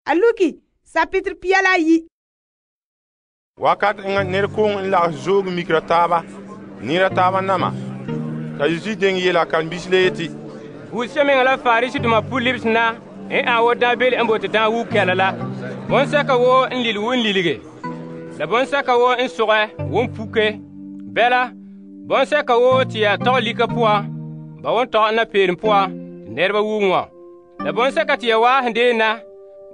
a luki sapitr pia la ayi. Wakat enŋa nɛrekooŋɔ n lagahɛ zooge mikera taaba, nira taaba nama. Ta Yesu deŋɛ yela kambisi la yeti, Wusemeŋa la Parisidoma pu-libs na n an wo daanbeele n bote daan wuge kɛla la. Bɔnsɛka woo n lile won lilige, la bɔnsɛka woo n sogɛ won puke. Bɛla, bɔnsɛka woo te ya tɔgɛ lika poan, ba won tɔgɛ napeerom poan te nɛreba wuge wã. La bɔnsɛka te ya waahe deen na,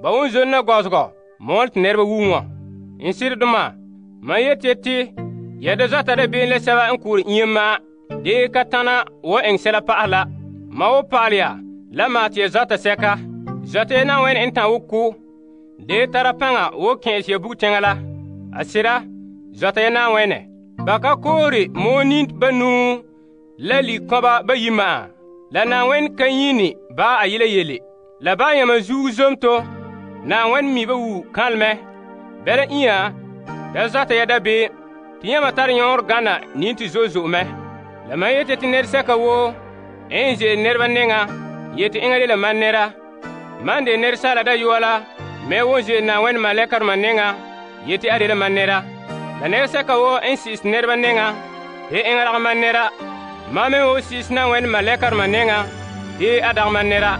ba won zone na gɔzegɔ mɔɔlɛ te nɛreba wuge wã. N siredoma, mam yeti te ya da zɔta dabeem la sɛba n koore iŋa ma'an, dee ka tana wo eŋɛ sɛla pa'ahɛ la. Ma wo pa'alɛ ya la maa te ya zɔta sɛka. Zɔta ya Na'ayenɛ n tan wo ko, dee tara paŋa wo kɛ'ɛse ya bugteŋa la. A sera, zɔta ya Na'ayenɛ. Ba ka koore mooni banuu la likɔba bayi ma'an. La Na'ayenɛ ka nyini ba a yela yele. La ba yãma zuo zomto, Na'ayenɛ mi ba wu kanleme. Bɛla inya, da zɔta ya dabeem, te yãma tare yõor gana nin te zo'e zo'e mɛ. La mam yete te nɛresɛka woo n ze'ele nɛreba nɛŋa yeti eŋa dela mam nɛra. Man de nɛresaala dayɔa la me won ze'ele Na'ayenɛ malɛkaroma nɛŋa yeti a dela mam nɛra. La nɛresɛka woo n si'ise nɛreba nɛŋa te eŋa dagɛ mam nɛra. Mam me wo si'ise Na'ayenɛ malɛkaroma nɛŋa te a dagɛ mam nɛra.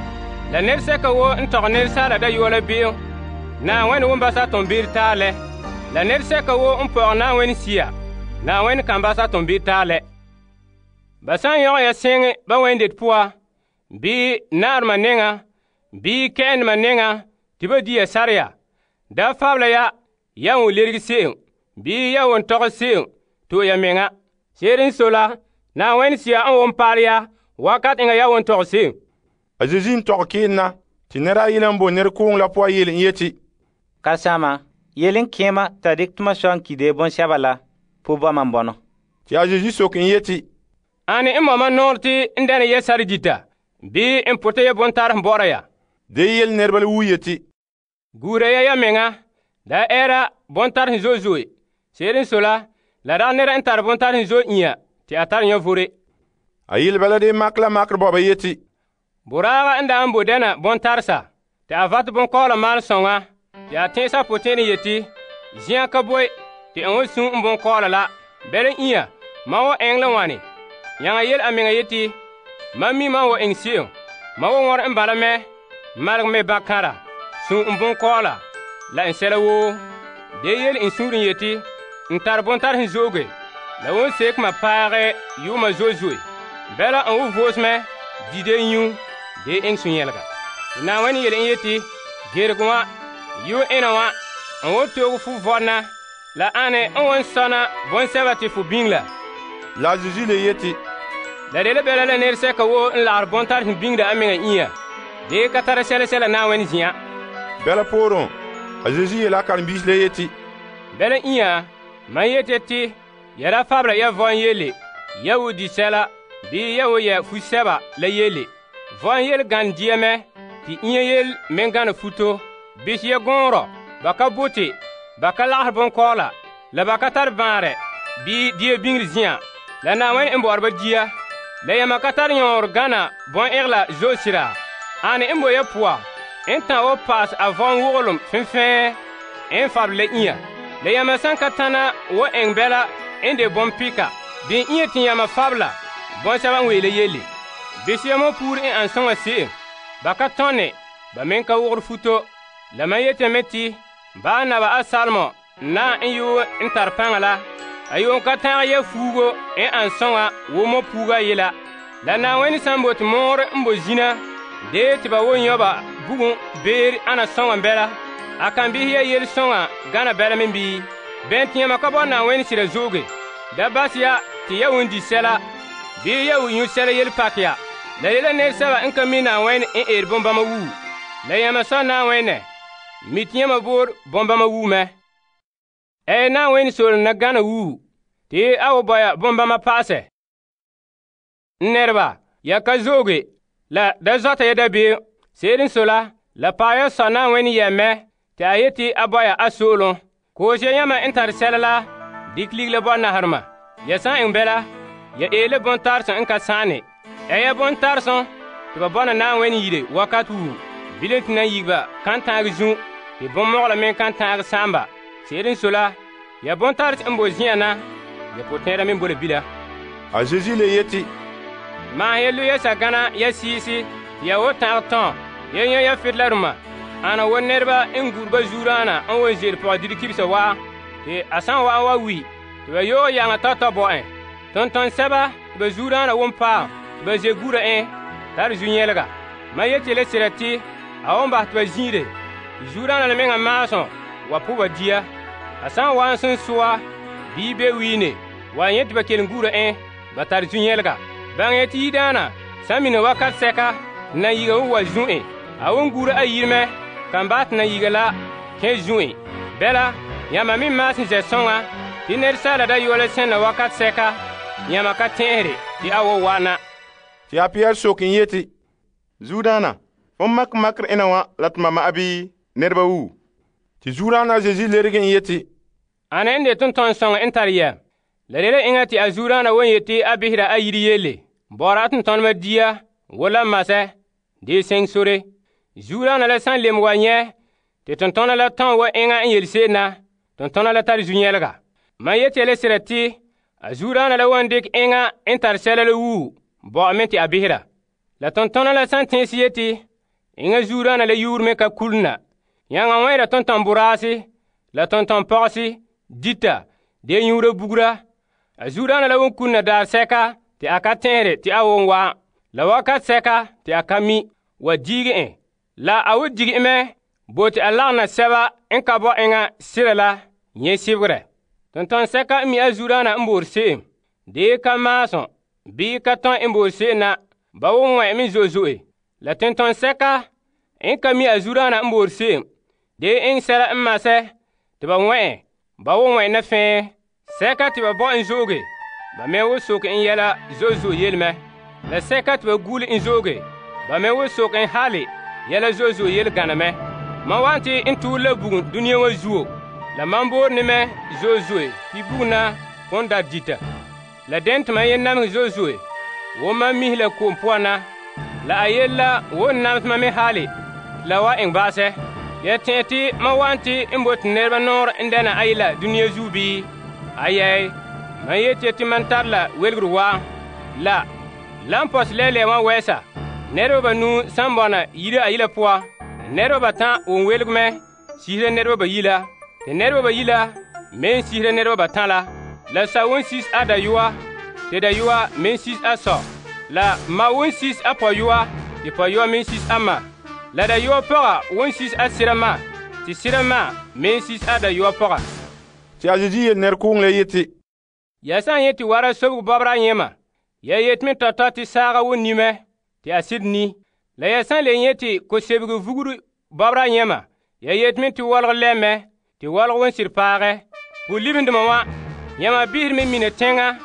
La nɛresɛka woo n tɔgɛ nɛresaala dayɔa la be'em, Na'ayenɛ won basa toonbeere taalɛ. La nɛresɛka woo n pɔgɛ Na'ayenɛ sia, Na'ayenɛ kan basa toonbeere taalɛ. Ba san yɔgɛ ya seŋe ba wɛndet poa, bii naarema nɛŋa, bii kɛ'ɛndoma nɛŋa te ba di ya sare ya, da fabla ya won lerege se'em, bii ya won tɔgɛ se'em to'e ya meŋa. Se'ere n sɔe la, Na'ayenɛ sia n won paalɛ ya wakat eŋa ya won tɔgɛ se'em. A Yesu n tɔgɛ keen na, te nɛra ayile n bo nɛrekooŋɔ la poan yele n yeti, Karesama, yele n kẽema t'a dikɛ tʋma sɔ n ki de bɔŋsɛba la po ba mam bɔnɔ. Te a Yesu soke n yeti, Ane n mama nɔɔrɛ te n dɛna ya sare dita, bii n pʋtɛ ya bontarem bɔ'ɔra ya? de yele nɛreba la wu yeti, Guura ya meŋa, da ɛɛra bontarem zo'e zo'e. Se'ere n sɔe la, la dagɛ nɛra n tare bontarem zo'e inya te a tare yãvore. a yele bala de mak la makre bɔba yeti, Boraaga n da n bo dɛna bontaresa, te a vatɛ bonkɔɔla maalɛ sõŋa, te a tẽese a potẽene yeti, zĩã ka boe te n won sũ n bonkɔɔla la. Bɛla inya, mam wo eŋɛ la wane? Yãŋa yele a meŋa yeti, mam mi mam wo eŋɛ se'em. Mam wo wɔrɛ n bala mɛ, malegɛ me bakãra, sũ n bonkɔɔla, la n sɛla woo. De yele n sũurẽ yeti, n tare bontarem zooge, la won seke ma paagɛ yuuma zo'e zo'e. Bɛla n wo voos mɛ, di de nyu, de eŋɛ sũ-yɛlega. Te Na'ayenɛ yele n yeti, gerege wã, yu ena wã, n wo tooge fu vɔdena, la ane n won sɔna bõnsɛba te fu biŋ la. la a Yesu le yeti, La de la bɛla la nɛresɛka woo n lagere bontarem biŋda a meŋa inya, de ka tara sɛla sɛla Na'ayenɛ zin'an. bɛla poorẽ, a Yesu yela a karen-biisi la yeti, Bɛla inya, mam yete te ya da fabra ya vɔn yele, ya wo di sɛla, bii ya wo yɛ fu-sɛba la yele. Vɔn yele gane dia mɛ, te inya yele meŋ gana futo. Bis ya gõorɔ, ba ka bote, ba ka lagere bonkɔɔla, la ba ka tare bãarɛ, bii dia biŋre zĩã, la Na'ayenɛ n bɔ'ɔra ba dia. La yãmba ka tare yõor gana bɔn-ɛgela zo'e sira. Ane n bo ya poa, n tã wo paas a vɔn wogelem fẽfɛɛ n fabla la inya. La yãmba sãn ka tãna wo eŋ bɛla n de bɔmpɩka, dẽ inya tɩ yãmba fabla bõnsɛba n weela yelle. Bes yãmba puur n an sõŋa se'em, ba ka tõne, ba meŋ ka wogre futo. La mam yetame tɩ baa naba a salmɔ na n yoo n tare pãŋa la, a yoo ka tãag ya fuugo n an sõŋa wo mo puuga a yela. La Na'ayenɛ sãn bote moore n bo zina, dee tɩ ba wo yõba bugum beer ana sõŋa bɛla, a kan bisɛ ya yel sõŋa gana bɛla me bii? Bɛn tɩ yãmba ka bɔ Na'ayenɛ sira zooge. Da bas ya tɩ ya won di sɛla, bii ya wo nyu sɛla yel pak ya. La yela nɛresɛba n ka mi Na'ayenɛ n eere bõn-bãmba wuu. La yãmba sɔ Na'ayenɛ, mi tɩ yãmba boor bõn-bãmba wuu mɛ. Na'ayenɛ soolem na gana wuu, tɩ a wo bɔya bõn-bãmba paasɛ. N nɛreba, ya ka zooge, la da zɔta ya dabeem. Se'ere n sɔe la paɛ ya sɔ Na'ayenɛ yɛ mɛ, tɩ a yeti a bɔya a soolem. Koos ya yãmba n tare sɛla la, dɩk lig la bɔ-naherema. Ya sã n iŋ bɛla, ya eele bõn-tarsem n ka sãane. Ya bõn-tarsem tɩ ba bɔna Na'ayenɛ yire wakat wuu, bilen tɩ nan yigiba kan tãag zu, te bonmɔgɔla me kan ta'agɛ sa'amba. Se'ere n sɔe la, ya bontarɛ n boe zen'an na, ya potɛn'ɛra me boe la bila. A Zeezi le yeti, Maahɛ ya lo ya sagana ya siisi, te ya wo ta'agɛ tɔn, ya nyɛ ya federaloma. Ana wo nɛreba n gure ba zuuraana n won ze'ele pɔgɔdire kibisa wa, te a san wa'an wa wi, te ba yoog yaŋa tɔtɔ bo en. Tonton sɛba te ba zuuraana won paam, te ba ze gura en, tare zu-nyɛlega. Ma yeti le sera te, a won bahɛ te ba zin'ire, te zuuraana la meŋa maasum wa po ba dia. A san wa'an son soa, bii be wiine, wa nyɛ te ba kelum gura en, ba tare zu-nyɛlega. Baŋɛ ya te yidaana, san mina wakat sɛka, na yiga won wa zu' en. A won gura a yire mɛ, kan bahɛ te na yiga la kẽ zu' en. Bɛla, yãmba me maasum zɛ soŋa, te nɛresaala dayɔa la sẽn na wakat sɛka, yãmba ka tẽesere te a wo wa'ana. Te a Pɩyɛ sok n yeti, Zuudaana, fon makr ena wa la tuma ma'a bii nɛreba wuu? te zuuraana a Zeezi lerege n yeti, Ane n de tonton-sõŋɔ n tare yɛm. La de la eŋa te a zuuraana won yeti a behera a yiri yelle. Bɔ'ɔra a tontonema dia, wo la masɛ, dee seŋ sore. Zuuraana la san lem wa nyɛ, te tontona la tɔn wa eŋa n yele se'em na, tontona la tare zu-nyɛlega. Mam yeti ya le sera te, a zuuraana la wan dikɛ eŋa n tare sɛla la wuu, bɔ'ɔ me te a behera. La tontona la san tẽese yeti, eŋa zuuraana la yuur me ka kule na. Yãŋa wẽera tonton boraase, la tonton pɔgese, dita, dee nyuura bugura. A zuuraana la won kule na daar sɛka te a ka tẽesere te a won wa'an. La wakat sɛka te a ka mi, wa diige en. La a wo dige mɛ, bo te a lagena sɛba n ka bɔ eŋa sira la nyɛ sebegɛ. Tonton sɛka n mi a zuuraana n boore se'em, dee ka maasum, bii ka tɔn n boore se'em na, ba won ŋmɛ me zo'e zo'e. La tonton sɛka n ka mi a zuuraana n boore se'em, dee eŋɛ sɛla n masɛ, te ba ŋmɛ, ba won ŋmɛ na fɛɛ. Sɛka te ba bɔ n zooge, ba me wo soke n yɛla zo'e zo'e yelemɛ. La sɛka te ba gule n zooge, ba me wo soke n hale yɛla zo'e zo'e yele gana mɛ. Man wan te n tuur la bugum dũniyã wa zuo, la man boore ne mɛ zo'e zo'e pi bugum na kon da dita. La den te man yen namehɛ zo'e zo'e, wo man mihe la ko'om poan na, la a yele la wo n namesema me hale, la wa eŋɛ baasɛ. Ya tẽ te man wan te n bote nɛreba nɔɔrɛ n dɛna a yela dũniyã zuo bii? Ayɛɛ, man yeti te man tare la welgere waa. La n pɔsɛ lɛɛlɛɛ wã wɛɛsa, nɛreba banuu san bɔna yire a yila poa, nɛreba batan won welg mɛ sisera nɛreba bayi la, te nɛreba bayi la me n sisera nɛreba batan la. La sa won sis a dayɔa, te dayɔa me n sis a sɔ. La ma won sis a pɔyɔa, te pɔyɔa me n sis a ma. La dayɔa pɔga won sis a sira ma, te sira ma me n sis a dayɔa pɔga. te a Zeezi yele nɛrekooŋ la yeti, Ya san yeti wara sobgu bɔbra yẽma, ya yet me tɔtɔ te saaga won ni mɛ, te a sɩd ni. La ya san le yeti ko sebgu vugru bɔbra yẽma, ya yet me te wɔlg lɛmɛ, te wɔlg won sɩd paagɛ. Pu-libendema wã, yãmba bisr me mina tẽŋa,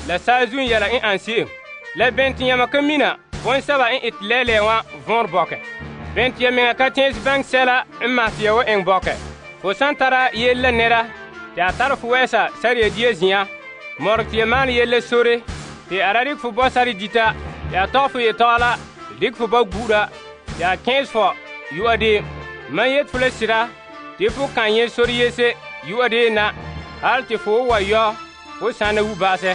la saazu n yɛla n an se'em. La bẽn tɩ yãmba ka mina bõn-sɛba n ete lɛɛlɛɛ wã võor bɔkɛ. Bẽn tɩ ya meŋa ka tẽes bãng sɛla n mas tɩ ya wa eng bɔkɛ. Fo san tara yell la nɛra, tɩ a tar fo wɛɛsa sar-ya dia zĩyã, morg tɩ ya maan yell la sore, tɩ a ra dɩk fo bɔ sar dita, tɩ a tɔg fo yetɔgɔ la, tɩ dɩk fo ba gu'ura, tɩ a kẽes fo yu'a deem. Man yet fo la sɩda, tɩ fo kan yẽ sor yese yu'a deem na, hal tɩ fo wa yɔ, fo sãna wu baasɛ.